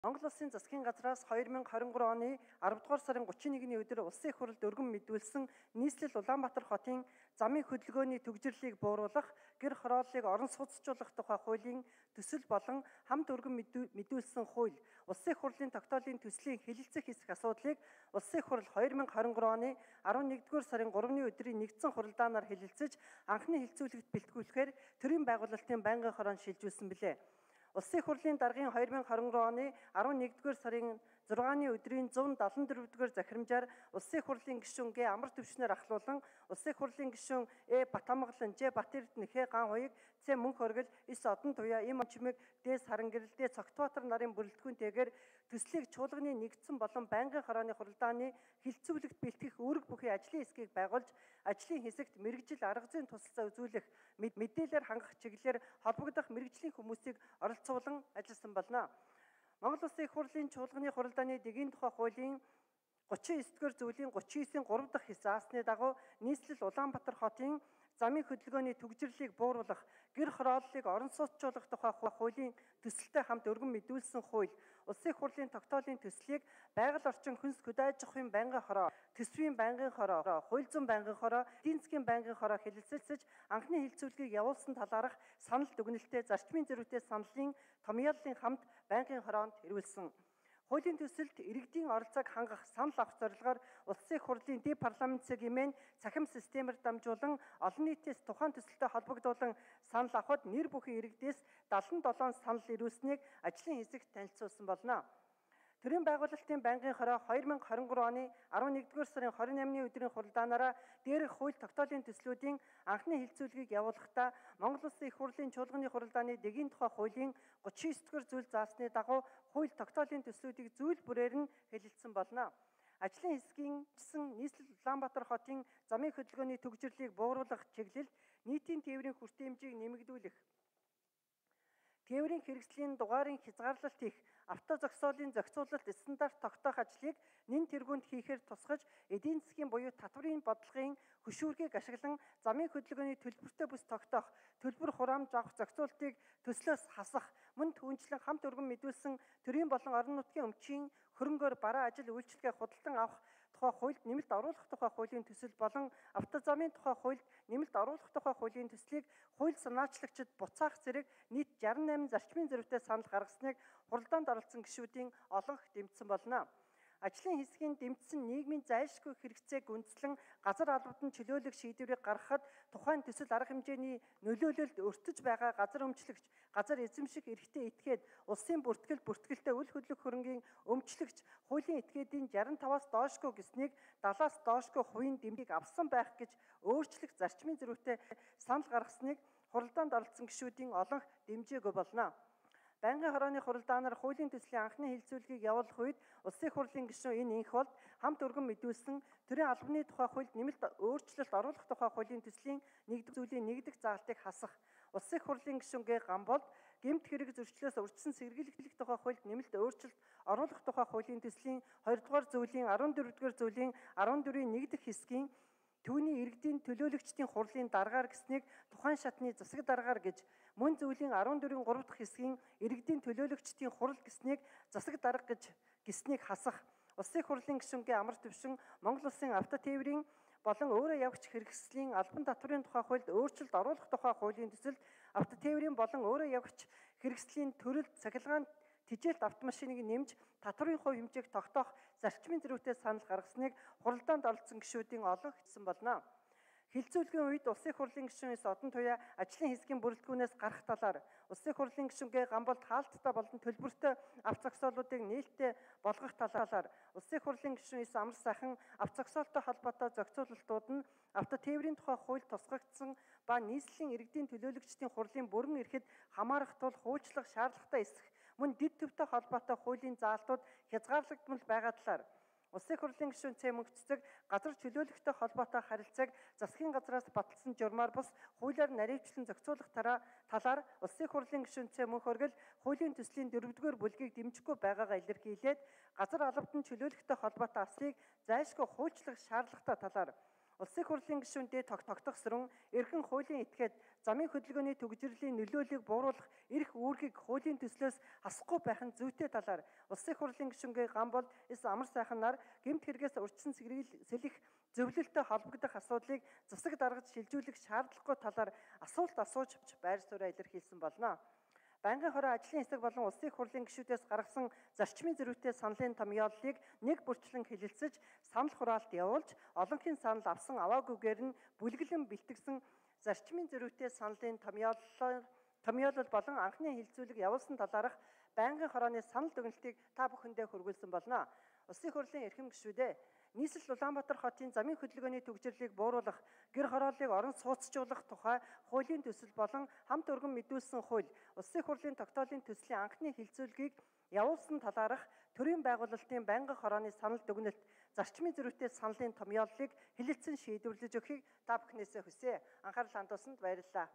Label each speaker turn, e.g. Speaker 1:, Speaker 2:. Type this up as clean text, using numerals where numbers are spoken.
Speaker 1: Монгол Улсын засгийн газраас 2023 оны 10 дугаар сарын 31-ний өдөр улсын их хурлд өргөн мэдүүлсэн нийслэл Улаанбаатар хотын замын хөдөлгөөний төгжрлийг бууруулах, гэр хорооллыг орон сууцчлуулах тухай хуулийн төсөл болон хамт өргөн мэдүүлсэн хууль, улсын их хурлын тогтоолын төслийн хэлэлцэх хэсэг асуудлыг улсын их хурл 2023 оны 11-р сарын 3-ны өдрийн нэгдсэн хуралдаанаар хэлэлцэж, анхны хэлцүүлэгт бэлтгүүлэхээр төрийн байгуулалтын байнгын хороонд шилжүүлсэн билээ. Улсын их хурлын даргын 2023 оны 11-р сарын 6-ны өдрийн 174-р захирамжаар улсын их хурлын гишүүн Г. Амар төвшнөр ахлуулан улсын их хурлын гишүүн Э. Батамгалан, Ж. Батэрд Нэхэ ган хуйг, Ц. Мөнх оргил, С. Одон туяа, Им Чимэг, Д. Сарангэрэл, Д. Цогтбаатар нарын бүрэлдэхүүнтэйгээр төслийг чуулганы нэгдсэн болон байнгын хорооны хуралдааны хилцүүлэгт бэлтгэх үүрэг бүхий ажлын хэсгийг байгуулж, ажлын хэсэгт мэрэгжил арга зүйн тусалцаа үзүүлэх, мэдээлэлээр хангах чиглэлээр холбогдох мэрэгжлийн хүмүүсийг оролцуулан ажилласан болно. Монгол Улсын их хурлын чуулганы хуралдааны дэгийн тухай хуулийн 39-р зүйлийн 39-ийн 3 дахь хэсэг заасны дагуу нийслэл Улаанбаатар хотын замын хөдөлгөөний төгжрлийг бууруулах, гэр хорооллыг орон сууцчлуулах тухай хуулийн төсөлтэй хамт өргөн мэдүүлсэн хууль, улсын их хурлын тогтоолын төслийг байгаль орчин хүнс хөдөө аж ахуйн байнгын хороо, төсвийн байнгын хороо, хууль зүйн байнгын хороо, эдийн засгийн байнгын хороо хэлэлцэлцэж анхны хэлцүүлгийг явуулсан талаарх санал дүгнэлтээ зарчмын зэрэгтэй саналын томьёоллын хамт байнгын хороонд ирүүлсэн. Хуулийн төсөлд иргэдийн оролцоог хангах, санал авах зорилгоор улсын их хурлын дэд парламент сегмент цахим системээр дамжуулан олон нийтээс тухайн төсөлтэй холбогдуулан санал авахд нэр бүхэн иргэдээс 77 санал ирүүлсэнийг ажлын хэсэгт танилцуулсан болно. Төрийн байгуулалтын байнгын хороо 2023 оны 11-р сарын 28-ны өдрийн хуралдаанаараа дээрх хууль тогтоолын төслүүдийн анхны хэлцүүлгийг явуулахдаа Монгол Улсын их хурлын чуулганы хуралдааны дэгийн тухай хуулийн 39-р зүйл заасны дагуу хууль тогтоолын төслүүдийг зүйл бүрээр нь хэлэлцсэн болно. Ажлын хэсгийн нийслэл Улаанбаатар хотын замын хөдөлгөөний төгжрлийг бууруулах чиглэлд нийтийн тээврийн хүртээ хэмжээг нэмэгдүүлэх, тээврийн хэрэгслийн дугаарын хязгаарлалт хийх, авто зогсоолын зохицуулалт стандарт тогтоох ажлыг нэн тэргуунд хийхээр тусгаж, эдийн засгийн буюу татврын бодлогын хөшүүргийг ашиглан замын хөдөлгөөний төлбөртэй бүс тогтоох, төлбөр хураамж авах зохицуултыг төслөөс хасах, мөн түүнчлэн хамт өргөн мэдүүлсэн төрийн болон орон нутгийн өмчийн хөрөнгөөр бараа ажил үйлчилгээ худалдан авах тухай хуульд нэмэлт оруулах тухай хуулийн төсөл болон автозамын тухай хуульд нэмэлт оруулах тухай хуулийн төслийг хууль санаачлагчид буцаах зэрэг нийт 68 зарчмын зэрэгтэй санал гаргасныг хуралдаанд оролцсон гишүүдийн олонх дэмжсэн болно. Ажлын хэсгийн дэмжсэн нийгмийн зайлшгүй хэрэгцээг үндэслэн газар албад нь чөлөөлөх шийдвэрийг гаргахад тухайн төсөл арга хэмжээний нөлөөлөлд өртөж байгаа газар өмчлөгч, газар эзэмших эрхтээ этгээд улсын бүртгэлтэй үл хөдлөх хөрөнгийн өмчлөгч хуулийн этгээдийн 65-аас доошгүй гэснийг 70-аас доошгүй хувийн дэмжийг авсан байх гэж өөрчлөх зарчмын зэрэгтэй санал гаргасныг хуралдаанд оролцсон гишүүдийн олонх дэмжээгүй болно. Байнгын хорооны хуралдаанаар хуулийн төслийн анхны хэлцүүлгийг явуулах үед улсын их хурлын гишүүн энэ инх болд хамт өргөн мэдүүлсэн төрийн албаны тухай хуульд нэмэлт өөрчлөлт оруулах тухай хуулийн төслийн 1-р зүйлийн 1 дахь заалтыг хасах, улсын их хурлын гишүүн Г. Гамболд гэмт хэрэг зөрчлөөс урьдчилан сэргийлэх тухай хуульд нэмэлт өөрчлөлт оруулах тухай хуулийн төслийн 2-р зүйлийн 14-р зүйлийн 14-ийн 1 дахь хэсгийн түүний иргэдийн төлөөлөгчдийн хурлын даргаар гэснийг тухайн шатны засаг даргаар гэж, мөн зүйлийн 14-ийн 3 дахь хэсгийн иргэдийн төлөөлөгчдийн хурал гэснийг засаг дарга гэж гэснийг хасах, улсын их хурлын гишүүн Г. Амар төвшин Монгол Улсын автотээврийн болон өөрөө явагч хэрэгслийн албан татврын тухай хуульд өөрчлөлт оруулах тухай хуулийн төсөлд автотээврийн болон өөрөө явагч хэрэгслийн төрөлд цахилгаан тэжээлт автомашиныг нэмж татврын хувь хэмжээг тогтоох зарчмын зэрэгтэй санал гаргасныг хуралдаанд оролцсон гишүүдийн олонх хэлсэн болно. Хэлцүүлгийн үед улсын их хурлын гишүүн С. Одон туяа ажлын хэсгийн бүрэлдэхүүнээс гарах талаар улсын их хурлын гишүүн Г. Гамболд хаалттай болон төлбөртэй авто зогсоолуудыг нээлттэй болгох талаар улсын их хурлын гишүүн С. Амар сайхан авто зогсоолтой холбоотой зохицуулалтууд нь автотээврийн тухай хууль тусгагдсан ба нийслэлийн иргэдийн төлөөлөгчдийн хурлын бүрэн эрхэд хамаарах тул хуульчлах шаардлагатай эсэх, мөн дэд төвтэй холбоотой хуулийн заалтууд хязгаарлагдмал байгаа талаар улсын их хурлын гишүүн Ц. Мөнх цэцэг газар чөлөөлөхтэй холбоотой харилцааг засгийн газраас баталсан журмаар бус хуулиар наривчлан зохицуулах талаар улсын их хурлын гишүүн Ц. Мөнх оргил хуулийн төслийн 4-р бүлгийг дэмжихгүй байгаагаа илэрхийлээд газар албад нь чөлөөлөхтэй холбоотой асуудлыг зайлшгүй хуульчлах шаардлагатай талаар улсын их хурлын гишүүн Д. Тогтгосрон эргэн хуулийн этгээд замын хөдөлгөөний төгжрлийн нөлөөллийг бууруулах эрх үүргийг хуулийн төслөөс хасахгүй байх нь зүйтэй талаар Улсын хурлын гишүүнгээ Гамбол С амар сайхан нар гэмт хэрэгээс урьдчилан сэлэх зөвлөлтөд холбогдох асуудлыг засаг даргаж шилжүүлэх шаардлагагүй талаар асуулт асууж байр сууриа илэрхийлсэн болно. Байнгын хороо ажлын хэсэг болон Улсын хурлын гишүүдээс гаргасан зарчмын зөрүүтэй саналын томьёоллыг нэг бүрчлэн хэлэлцэж, санал хураалт явуулж, олонхын санал авсан аваагүйгээр нь бүлэглэн бэлтгэсэн зарчмын зөрүүтэй саналын томьёолол болон анхны хилцүүлэг явуулсан талаарх байнгын хорооны санал дүгнэлтийг та бүхэндээ хүргүүлсэн болно. Улсын хурлын эрхэм гишүүдээ нийслэл Улаанбаатар хотын замын хөдөлгөөний төгжрлийг бууруулах, гэр хорооллыг орон сууцжуулах тухай хуулийн төсөл болон хамт өргөн мэдүүлсэн хууль, Улсын хурлын тогтоолын төслийн анхны хилцүүлгийг явуулсан талаарх төрийн байгуулалтын байнгын хорооны санал дүгнэлт, зарчмын зөрүүтэй саналын томьёоллыг хэлэлцэн шийдвэрлэж өгөхийг та бүхнээсээ хүсье. Анхаарал хандуулсанд баярлалаа.